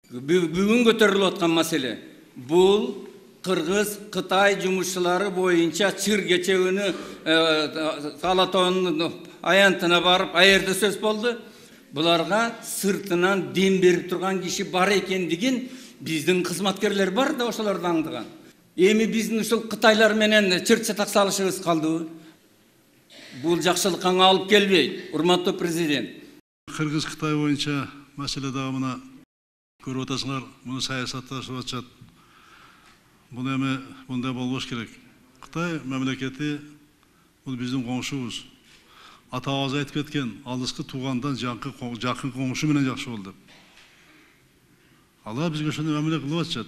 Бүгүн көтөрүлүп аткан маселе бул Кыргыз-Кытай жумушчулары боюнча чыр кечегүнү Алатоонун аянтына барып, аерде сөз болду. Буларга сыртынан дем берип турган киши бар экендигин биздин кызматкерлер бар да ошолорду аңдыган. Эми биздин ушул Кытайлар менен чыр-чатак салышыбыз калдыбы? Бул жакшылыкка алып келбейт, урматтуу президент. Кыргыз-Кытай боюнча маселе дагы мына көрүп атасыңар, муну саясатташып атышат. Бул эми мындай болбош керек. Кытай мамлекети бул биздин коңшубуз. Атабыз айтып кеткен, алыскы туугандан жакын коңшу менен жакшы бол деп. Алар бизге ошондой мамиле кылып атышат.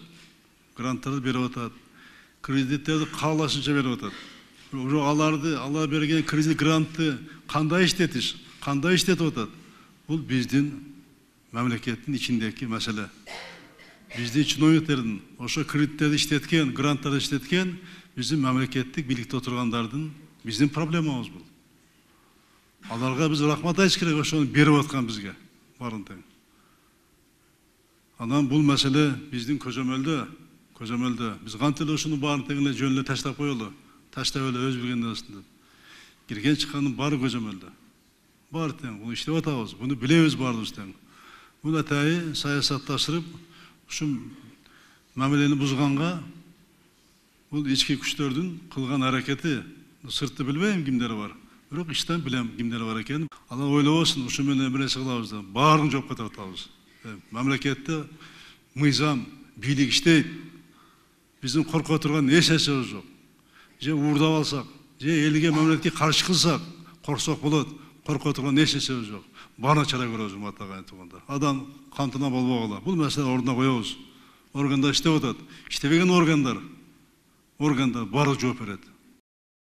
Гранттарды берип атат, кредиттерди каалашынча берип атат. Алар берген кредит грантты кандай иштетип атат? Бул биздин мамлекеттин ичиндеги маселе. Биздин чиновниктердин ошо кредиттерди иштеткен, гранттарды иштеткен биздин мамлекеттик бийликте отургандардын биздин проблемабыз бул. Аларга биз рахмат айтыш керек, ошону берип аткан бизге барын тең. Анан бул маселе биздин көзөмөлдө. Биз кантип эле ушуну барын тең эле жөн эле таштап коелу, таштап эле өз билгенден деп. Кирген чыккандын баары көзөмөлдө. Баары тең, буну иштеп атабыз, буну билебиз баарыбыз тең. Бул атайы саясатташырып, ушул мамилени бузганга бул ички күчтөрдүн кылган аракети, сыртты билбейм кимдер бар. Бирок иштен билем кимдер бар экенин. Алар ойлобосун, ушу менен бир нерсе кылабыз деп, баарын жопко тартабыз. Мамлекетте мыйзам, бийлик иштейт. Биздин корко турган эч нерсебиз жок. Же уурдап алсак, же элге мамлекетке каршы кылсак, корксок болот. Корко турган эч нерсебиз жок. Баарын чара көрөбүз, урматтуу туугандар. Адам кантына болбогула. Бул маселе ордуна коебуз. Органдар иштеп атат. Иштебеген органдар баары жооп берет.